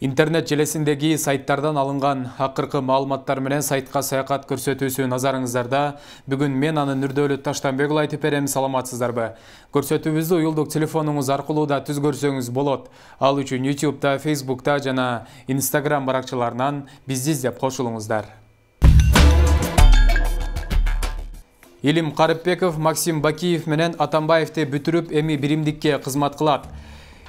Интернет желесиндеги сайттардан алынган акыркы маалыматтар менен сайтка саякат көрсөтүүсү назарыңыздарда. Бүгүн мен анын Нурдөлүт Таштанбекұлы айтып берем, саламатсыздарбы? Көрсөтүүбүздү уюлдук телефонуңуз аркылуу да түз көрсөңүз болот. Ал үчүн YouTube'да, Facebook'та жана Instagram баракчаларынан бизди издеп кошулуңуздар. Илим Карыпбеков, Максим Бакиев менен Атамбаевди бүтүрүп, эми биримдикке кызмат кылат.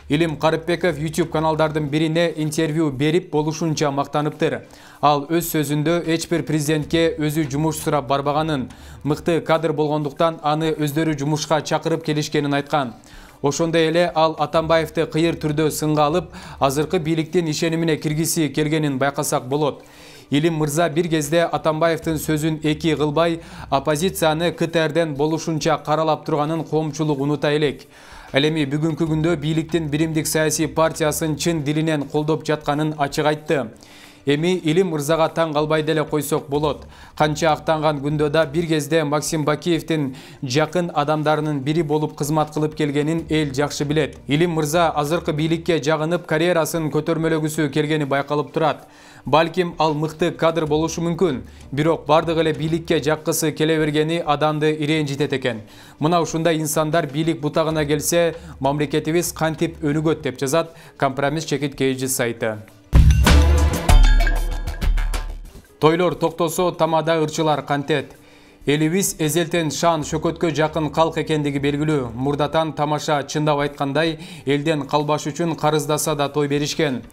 Илим Карыпбеков YouTube каналдардын бирине интервью берип болушунча мактаныптыр. Ал өз сөзүндө эч бир президентке өзү жумуш сурап барбаганын, мыкты кадр болгондуктан аны өздөрү жумушка чакырып келишкенин айткан. Ошондой эле ал Атамбаевди кыйыр түрдө сынга алып, азыркы бийликтин ишенимине киргиси келгенин байкасак болот. Илим мырза бир кезде Атамбаевдин сөзүн эки кылбай, оппозицияны КТРден болушунча каралап турганын коомчулук унута элек. Ал эми бүгүнкү күндө бийликтин биримдик саясий партиясын чын дилинен колдоп жатканын ачык айтты. Эми Илим мырзага таң калбай деле койсок болот. Канча актанган күндө да бир кезде Максим Бакиевдин жакын адамдарынын бири болуп кызмат кылып келгенин эл жакшы билет. Илим мырза азыркы бийликке жагынып, карьерасын көтөрмөлөгүсү келгени байкалып турат. Балким ал мыкты кадр болушу мүмкүн, бирок бардык эле бийликке жаккысы келе бергени адамды ирэнжитет экен. Мына ушундай инсандар бийлик бутагына келсе, мамлекетибиз кантип өнүгөт деп жазат Компромисс чекит KG сайты. Тойлор токтосо тамада ырчылар кантет. Элибиз эзелтен шан шөкөткө жакын калк экендиги белгилүү. Мурдатан тамаша, чындап айткандай, элден калбаш үчүн карыздаса да той беришкен.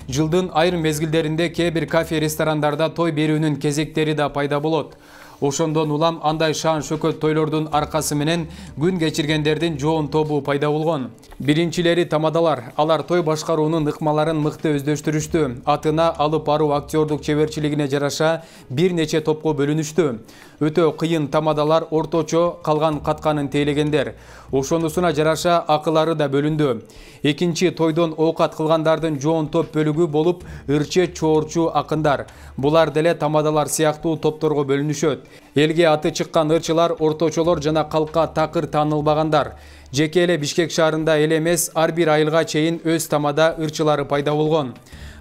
Жылдын айрым мезгилдеринде кээ бир кафе ресторандарда той берүүнүн кезектери да пайда болот. Ошондон улам андай шан шөкөт тойлордун аркасы менен күн кечиргендердин жоон тобу пайда болгон. Биринчилери тамадалар. Алар той башкаруунун ыкмаларын мыкты өздөштүрүштү. Атына алып баруу актёрдук чеберчилигине жараша бир нече топко бөлүнүштү. Өтө кыйын тамадалар орточо калган катканын тейлегендер. Ошонусуна жараша акылары да бөлүндү. Экинчи тойдон оокат кылгандардын жоон топ бөлүгү болуп ырчы чоорчу акындар. Булар деле тамадалар сыяктуу топторго бөлүнүшөт. Элге аты чыккан ырчылар, орточолор жана калкка такыр таанылбагандар. Жеке эле Бишкек шаарында эле эмес, ар бир айылга чейин өз тамада ырчылары пайда болгон.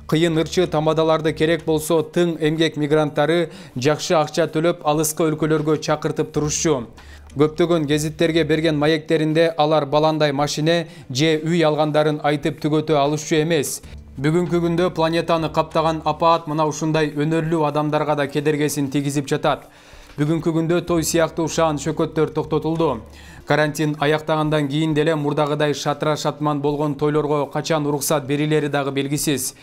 Кыйын ырчы тамадаларды керек болсо тың эмгек мигранттары жакшы акча төлөп алыскы өлкөлөргө чакыртып турушчу. Көптөгөн гезиттерге берген маектеринде алар баландай машине же үй алгандарын айтып түгөтө алышчу эмес. Бүгүнкү күндө планетаны каптаган апаат мына ушундай өнөрлүү адамдарга да кедергесин тийгизип жатат. Бүгүнкү күндө той сыяктуу шаан шөкөттөр токтотулду. Карантин аяктагандан кийин деле мурдагыдай шатыра шатман болгон тойлорго качан уруксат берилери дагы белгисиз.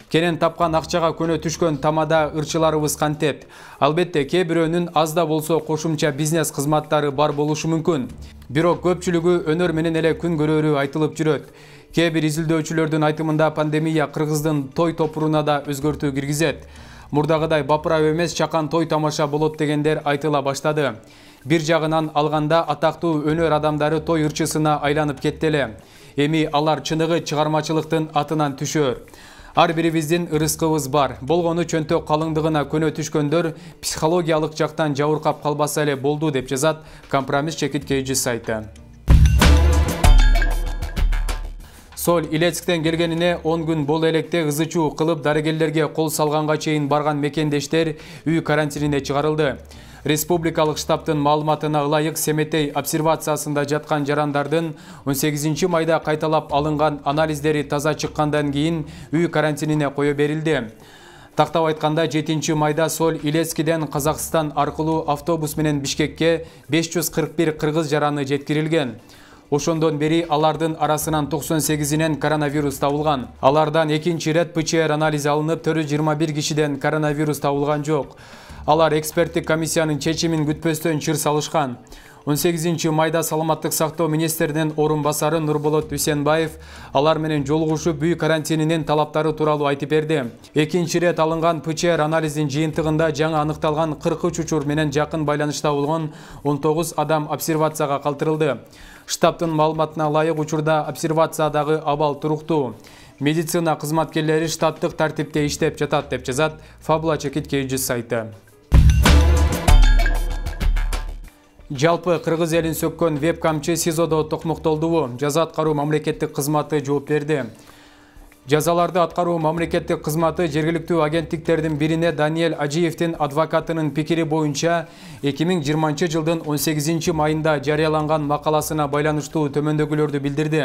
Кенен тапкан акчага көнө түшкөн тамада ырчыларыбыз кантет. Албетте, кээ бирөөнүн аз да болсо кошумча бизнес кызматтары бар болушу мүмкүн. Бирок көпчүлүгү өнөр менен эле күн көрөрү айтылып жүрөт. Кээ бир изилдөөчүлөрдүн айтымында пандемия кыргыздын той топуруна да өзгөртүү киргизет. Мурдагыдай бапырап эмес, чакан той тамаша болот дегендер айтыла баштады. Бир жагынан алганда атактуу өнөр адамдары той ырчысына айланып кетти эле. Эми алар чыныгы чыгармачылыктын атынан түшөр. Ар бирибиздин ырыскыбыз бар. Болгону чөнтөк калыңдыгына көнө түшкөндөр психологиялык жактан жабыркап калбаса эле болду деп жазат Компромисс чекит KG сайты. Сол Илецктен келгенине 10 күн бол электе ызычуу кылып дарыгерлерге кол салганга чейин барган мекендештер үй карантинине чыгарылды. Республикалык штабтын маалыматына ылайык, Семетей обсервациясында жаткан жарандардын 18 майда кайталап алынган анализдери таза чыккандан кийин үй карантинине кое берилди. Тактап айтканда 7 майда Сол Илецкиден Казакстан аркылуу автобус менен Бишкекке 541 кыргыз жараны жеткирилген. Ошондон бери алардын арасынан 98-инен коронавирус табылган. Алардан экинчи ирет ПЧР анализи алынып, 421 кишиден коронавирус табылган жок. Алар эксперттик комиссиянын чечимин күтпөстөн чыр салышкан. 18 майда Саламаттык сактоо министринин орун басары Нурболот Дүйсенбаев алар менен жолугушуп үй карантининин талаптары тууралуу айтып берди. Экинчи ирет алынган ПЧР анализин жыйынтыгында жаңы аныкталган 43 учур менен жакын байланышта болгон 19 адам обсервацияга калтырылды. Штабтын маалыматына ылайык учурда обсервациядагы абал туруктуу. Медицина кызматкерлери штаттык тартипте иштеп жатат деп жазат Фабула чекит KG сайты. Жалпы кыргыз элин сөккөн веб-камчы СИЗОдо токмоктолдубу? Жаза аткаруу мамлекеттик кызматы жооп берди. Жазаларды аткаруу мамлекеттик кызматы жергиликтүү агенттиктердин бирине Даниэль Ажиевдин адвокатынын пикири боюнча 2020 жылдын 18 майында жарыяланган макаласына байланыштуу төмөндөгүлөрдү билдирди.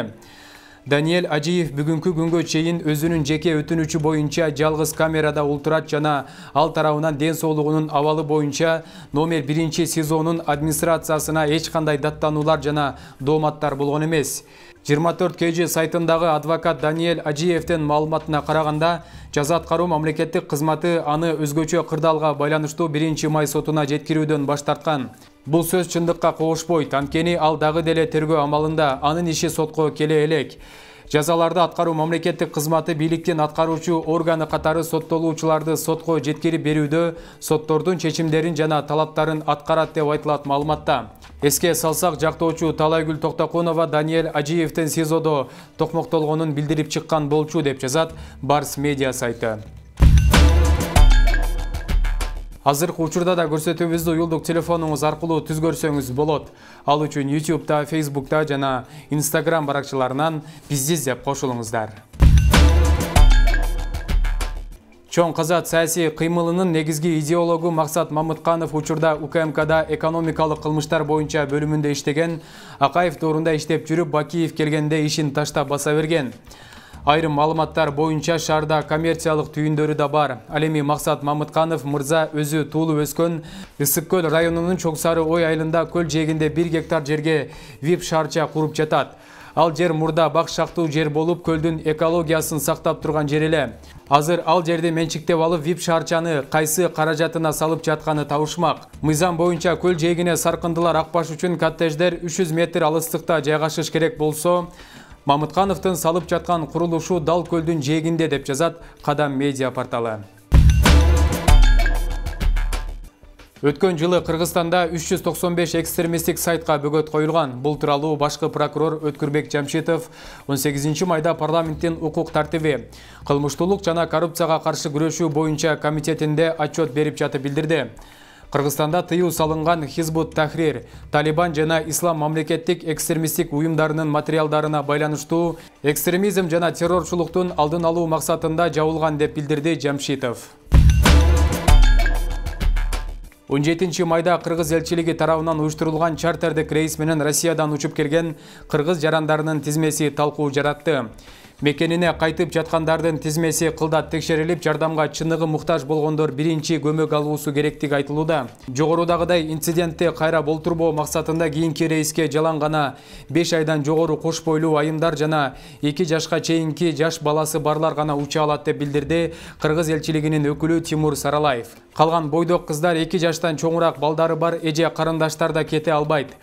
Даниэль Ажиев бүгүнкү күнгө чейин өзүнүн жеке өтүнүчү боюнча жалгыз камерада ултурат жана ал тарабынан ден соолугунун абалы боюнча номер 1 СИЗОнун администрациясына эч кандай даттануулар жана дооматтар болгон эмес. 24 KG сайтындагы адвокат Даниэль Ажиевдин маалыматына караганда, жаза аткаруу мамлекеттик кызматы аны өзгөчө кырдаалга байланыштуу 1 май сотуна жеткирүүдөн баш тарткан. Бул сөз чындыкка кошпойт, анткени ал дагы деле тергөө амалында, анын иши сотко келе элек. Жазаларды аткаруу мамлекеттик кызматы бийликтин аткаруучу органы катары соттолуучуларды сотко жеткирип берүүдө соттордун чечимдерин жана талаптарын аткарат деп айтылат маалыматта. Эске салсак, жактоочу Талайгүл Токтокунова Даниэль Ажиевдин СИЗОдо токмоктолгонун билдирип чыккан болчу деп жазат Барс медиа сайты. Азыркы учурда да көрсөтүүбүздү уюлдук телефонуңуз аркылуу түзгөрсөңүз болот. Ал үчүн YouTube'да, Facebook'та жана Instagram баракчаларынан бизди издеп кошулуңуздар. Чоң Казат саясий кыймылынын негизги идеологу Максат Мамытканов учурда УКМКда экономикалык кылмыштар боюнча бөлүмүндө иштеген, Акаев доорунда иштеп жүрүп, Бакиев келгенде ишин таштап баса берген. Айрым маалыматтар боюнча шаарда коммерциялык түйүндөрү да бар. Ал эми Максат Мамытканов мырза өзү туулуп өскөн Ысык көл районунун Чоң Сары ой айылында көл жээгинде 1 гектар жерге VIP шаарча куруп жатат. Ал жер мурда бак шактуу жер болуп, көлдүн экологиясын сактап турган жер эле. Азыр ал жерди менчиктеп алып, VIP шаарчаны кайсы каражатына салып жатканы табышмак. Мыйзам боюнча көл жээгине саркындылар акпаш үчүн коттедждер 300 метр алыстыкта жайгашыш керек болсо, Мамыткановдун салып жаткан курулушу дал көлдүн жээгинде деп жазат Кадам медиа порталы. Өткөн жылы Кыргызстанда 395 экстремисттик сайтка бөгөт коюлган. Бул тууралуу башкы прокурор Өткүрбек Жамшитов 18 майда парламенттин укук тартиби, кылмыштуулук жана коррупцияга каршы күрөшүү боюнча комитетинде отчет берип жатып билдирди. Кыргызстанда тыюу салынган Хизбут Тахрир, Талибан жана Ислам мамлекеттик экстремисттик уюмдарынын материалдарына байланыштуу экстремизм жана террорчулуктун алдын алуу максатында жабылган деп билдирди Жамшитов. 17 майда Кыргыз элчилиги тарабынан уюштурулган чартердик рейс менен Россиядан учуп келген кыргыз жарандарынын тизмеси талкуу жаратты. Мекенине кайтып жаткандардын тизмеси кылдат текшерилип, жардамга чыныгы муктаж болгондор биринчи көмөк алуусу керектиги айтылууда. Жогорудагыдай инцидентти кайра болтурбоо максатында кийинки рейске жалаң гана 5 айдан жогору кош бойлуу айымдар жана 2 жашка чейинки жаш баласы барлар гана уча алат деп билдирди Кыргыз элчилигинин өкүлү Тимур Саралаев. Калган бойдок кыздар 2 жаштан чоңураак балдары бар эже карындаштар да кете албайт.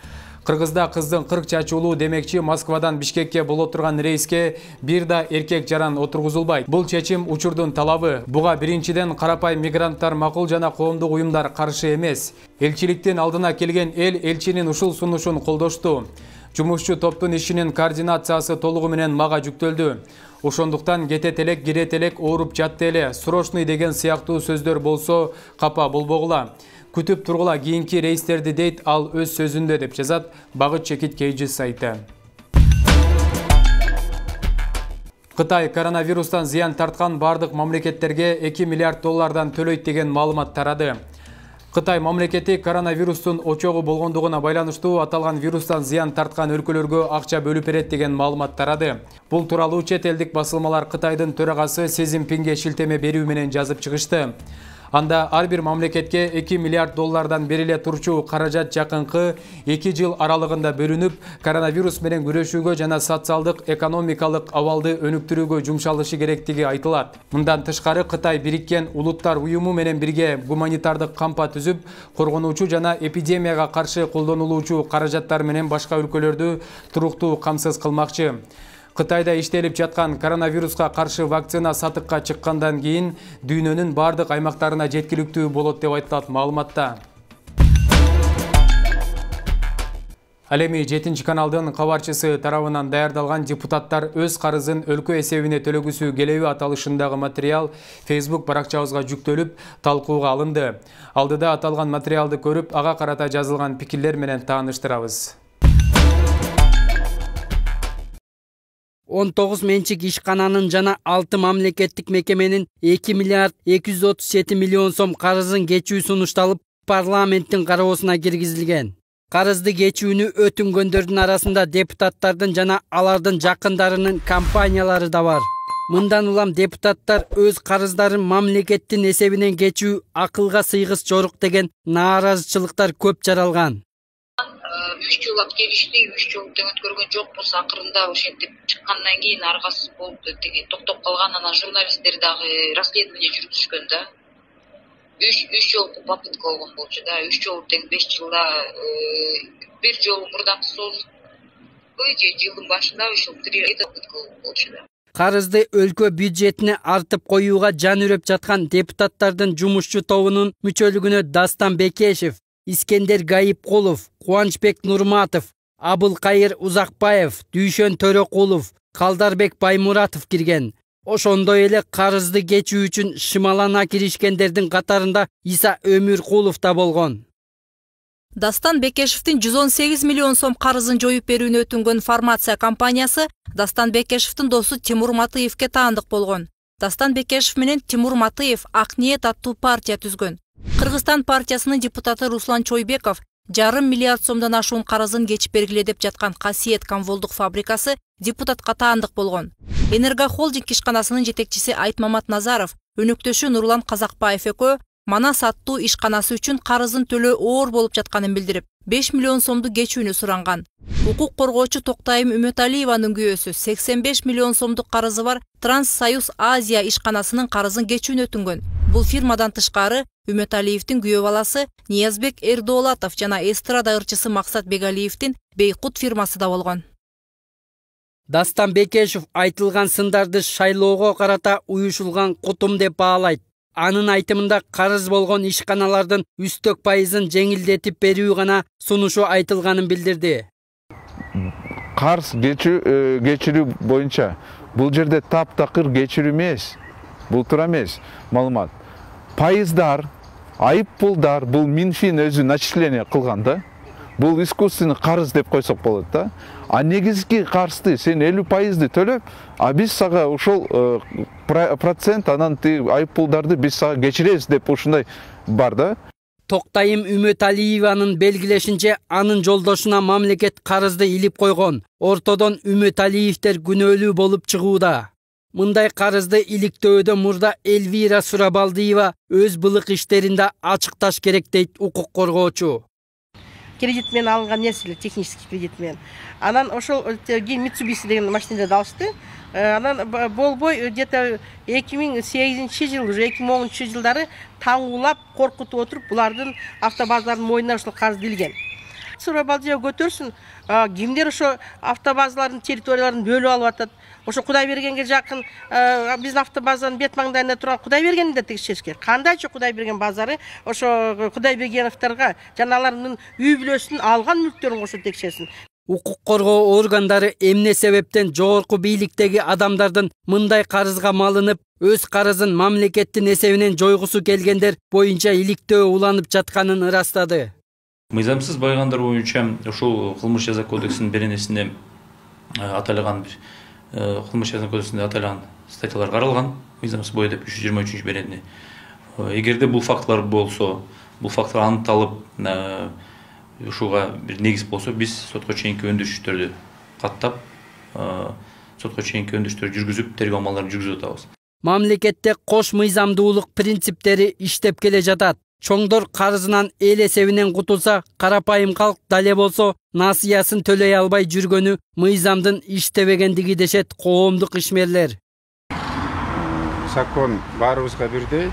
Кыргызда кыздын 40 чачуулуу демекчи Москвадан Бишкекке боло турган рейске бир да эркек жаран отургузулбайт. Бул чечим учурдун талабы. Буга биринчиден карапайым мигранттар макул жана коомдук уюмдар каршы эмес. Элчиликтин алдына келген эл элчинин ушул сунушун колдошту. Жумушчу топтун ишинин координациясы толугу менен мага жүктөлдү. Ошондуктан кетет элек, кирет элек, ооруп жатты эле, срочный деген сыяктуу сөздөр болсо капа болбогула. Күтүп тургула кийинки рейстерди дейт ал өз сөзүндө деп жазат Багыт Чекит KG сайты. Кытай коронавирустан зыян тарткан бардык мамлекеттерге 2 миллиард доллардан төлөйт деген маалымат тарады. Кытай мамлекети коронавирустун очогу болгондугуна байланыштуу аталган вирустан зыян тарткан өлкөлөргө акча бөлүп берет деген маалымат тарады. Бул тууралуу чет элдик басылмалар Кытайдын төрагасы Си Цзиньпинге шилтеме берүү менен жазып чыгышты. Анда ар бир мамлекетке 2 миллиард доллардан бериле турчу каражат жакынкы 2 жыл аралыгында бөлүнүп, коронавирус менен күрөшүүгө жана социалдык экономикалык абалды өнүктүрүүгө жумшалышы керектиги айтылат. Мындан тышкары Кытай Бириккен Улуттар уюму менен бирге гуманитардык кампа түзүп, коргонуучу жана эпидемияга каршы колдонулуучу каражаттар менен башка өлкөлөрдү туруктуу камсыз кылмакчы. Кытайда иштелип жаткан коронавируска каршы вакцина сатыкка чыккандан кийин дүйнөнүн бардык аймактарына жеткиликтүү болот деп айтылат маалыматта. Ал эми 7 каналдын кабарчысы тарабынан даярдалган депутаттар өз карызын өлкө эсебине төлөгүсү келеби аталышындагы материал Facebook баракчабызга жүктөлүп, талкууга алынды. Алдыда аталган материалды көрүп, ага карата жазылган пикирлер менен тааныштырабыз. 19 менчик ишкананын жана 6 мамлекеттик мекеменин 2 миллиард 237 миллион сом карызын кечүү сунушталып, парламенттин кароосуна киргизилген. Карызды кечүүнү өтүнгөндөрдүн арасында депутаттардын жана алардын жакындарынын компаниялары да бар. Мындан улам депутаттар өз карыздарын мамлекеттин эсебинен кечүү акылга сыйгыс жорук деген нааразычылыктар көп жаралган. 3 жыл келишти, 3 жыл тең өткөргөн жокпуз. Акырында ошентип чыккандан кийин аргасыз болуп токтоп калган. Анан журналисттер дагы расследование жүргүзүшкөн да. 3 жолку попытка болгон болчу да. 3 жол тең 5 жылда бир жол мурдакы созулган же жылдын башында ошол 3 попытка болчу да. Карызды өлкө бюджетине артып коюуга жан үрөп жаткан депутаттардын жумушчу тобунун мүчөлүгүнө Дастан Бекешев, Искендер Гайыпкулов, Кубанычбек Нурматов, Абылкайыр Узакбаев, Дүйшөн Төрөкулов, Калдарбек Баймуратов кирген. Ошондой эле карызды кечүү үчүн шымалана киришкендердин катарында Иса Өмүркулов да болгон. Дастан Бекешевдин 118 миллион сом карызын жоюп берүүнү өтүнгөн фармация компаниясы Дастан Бекешевдин досу Тимур Матыевке таандык болгон. Дастан Бекешев менен Тимур Матыев Ак ниет аттуу партия түзгөн. Кыргызстан партиясынын депутаты Руслан Чойбеков 1,5 миллиард сомдон ашуун карызын кечип бергиле деп жаткан Касиет комволдук фабрикасы депутатка таандык болгон. Энергохолдинг ишканасынын жетекчиси Айтмамат Назаров, өнөктөшү Нурлан Казакбаев экөө Манас аттуу ишканасы үчүн карызын төлөө оор болуп жатканын билдирип, 5 миллион сомду кечүүнү суранган. Укук коргоочу Токтайым Үмөталиеванын күйөөсү 85 миллион сомдук карызы бар Транссоюз Азия ишканасынын карызын кечүүнү өтүнгөн. Бул фирмадан тышкары Үмөталиевдин күйөө баласы Ниязбек Эрдоолатов жана эстрада ырчысы Максат Бегалиевдин Бейкут фирмасы да болгон. Дастан Бекешев айтылган сындарды шайлоого карата уюшулган кутум деп баалайт. Анын айтымында карыз болгон ишканалардын үстөк пайызын жеңилдетип берүү гана сунушу айтылганын билдирди. Карыз кечирүү боюнча бул жерде таптакыр кечирүү эмес, бул туура эмес маалымат. Пайыздар, айып пулдар бул Минфин өзү начисление кылган да. Бул искусственный карыз деп койсок болот да. А негизги карызды сен 50% төлөп, а биз сага ошол процент анан айып пулдарды биз сага кечиребиз деп ушундай бар да. Токтайым Үмөталиеванын белгилешинче анын жолдошуна мамлекет карызды илип койгон. Ортодон Үмөталиевдер күнөөлүү болуп чыгууда. Мындай карызды иликтөөдө мурда Эльвира Сурабалдиева өз былык иштеринде ачыкташ керек дейт укук коргоочу. Кредит менен алынган нерселер, технический кредит менен. Анан ошол Mitsubishi деген машинада алышты. Анан болбой где-то 2008 жыл, уже 2010 жылдары таңуулап, коркутуп отуруп, булардын автобазалардын мойнуна ошол карыз илген. Сурабалдиева көтөрсүн, кимдер ошо автобазалардын территорияларын бөлүп алып атат. Ошо Кудайбергенге жакын биздин автобазанын бет маңдайында турган Кудайбергенди да текшериш керек. Кандайча Кудайберген базары ошо Кудайбергеновторго жана алардын үй бүлөсүнүн алган мүлктөрүн кошо текшерсин. Укук коргоо органдары эмне себептен жогорку бийликтеги адамдардын мындай карызга малынып, өз карызын мамлекеттин эсебинен жойгусу келгендер боюнча иликтөө уланып жатканын ырастады. Мыйзамсыз байгандар боюнча ушул кылмыш жаза кодексинин беренесинде аталган бир кылмыш жаза кодексинде аталган статьялар каралган. Мыйзамсыз бой деп 323 беренеси. Эгерде бул фактылар болсо, бул фактылар аныкталып, ушуга бир негиз болсо, биз сотко чейинки өндүрүштөрдү каттап, сотко чейинки өндүрүштөр жүргүзүп, тергөө амалдарын жүргүзүп атабыз. Мамлекетте кош мыйзамдуулук принциптери иштеп келе жатат. Чоңдор карызынан эл эсебинен кутулса, карапайым калк дале болсо насыясын төлөй албай жүргөнү мыйзамдын иштебегендиги дешет коомдук ишмерлер. Закон баарыбызга бирдей,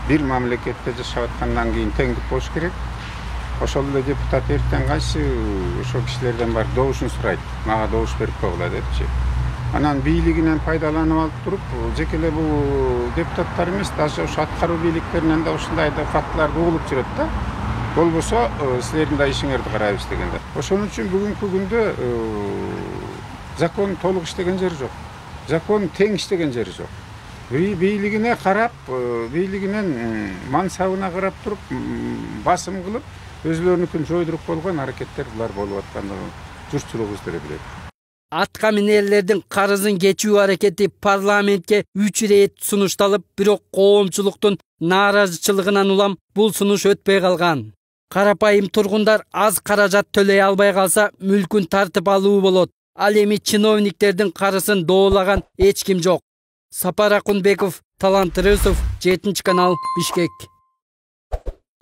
бир мамлекетте жашап аткандан кийин теңдик болуш керек. Ошол эле депутат эртең кайсы ошол кишилерден бар добушун сурайт. Мага добуш берип койгула депчи. Анан бийлигинен пайдаланып алып туруп, жеке эле бул депутаттар эмес, даже ошо аткаруу бийликтеринен да ушундай да фактыларды угулуп жүрөт да. Болбосо силердин да ишиңерди карайбыз дегенде. Ошон үчүн бүгүнкү күндө закон толук иштеген жери жок. Закон тең иштеген жери жок. Бийлигине карап, бийлигинен мансабына карап туруп, басым кылып, өзлөрүнүкүн жойдуруп болгон аракеттер булар болуп аткандыгын журтчулук өздөрү билет. Атка минерлердин карызын кечүү аракети парламентке 3 ирет сунушталып, бирок коомчулуктун нааразычылыгынан улам бул сунуш өтпөй калган. Карапайым тургундар аз каражат төлөй албай калса, мүлкүн тартып алуу болот. Ал эми чиновниктердин карысын доолаган эч ким жок. Сапар Акунбеков, Талант Рысов, 7-канал, Бишкек.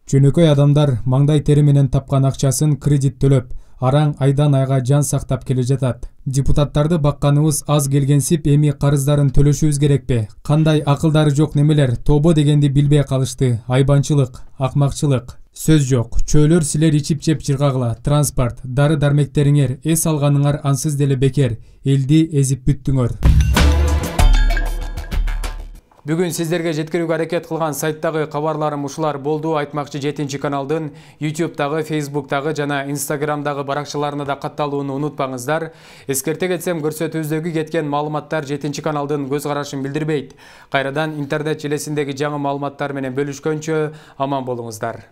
Чөнөкөй адамдар маңдай тери менен тапкан акчасын кредит төлөп, араң айдан айга жан сактап келе жатат. Депутаттарды бакканыбыз аз келгенсип, эми карыздарын төлөшүбүз керекпи? Кандай акылдары жок немелер тобо дегенди билбей калышты. Айбанчылык, акмакчылык. Сөз жок. Чөөлөр силер ичип жеп жыргагыла. Транспорт, дары дармектериңер, эс алганыңар ансыз деле бекер. Элди эзип бүттүңөр. Бүгүн сиздерге жеткирүүгө аракет кылган сайттагы кабарларым ушулар болду. Айтмакчы 7-каналдын YouTube'дагы, Facebook'тагы жана Instagram'дагы баракчаларына да катталууну унутпаңыздар. Эскерте кетсем, көрсөтүүбүздөгү кеткен маалыматтар 7-каналдын көз карашын билдирбейт. Кайрадан интернет желесиндеги жаңы маалыматтар менен бөлүшкөнчө аман болуңуздар.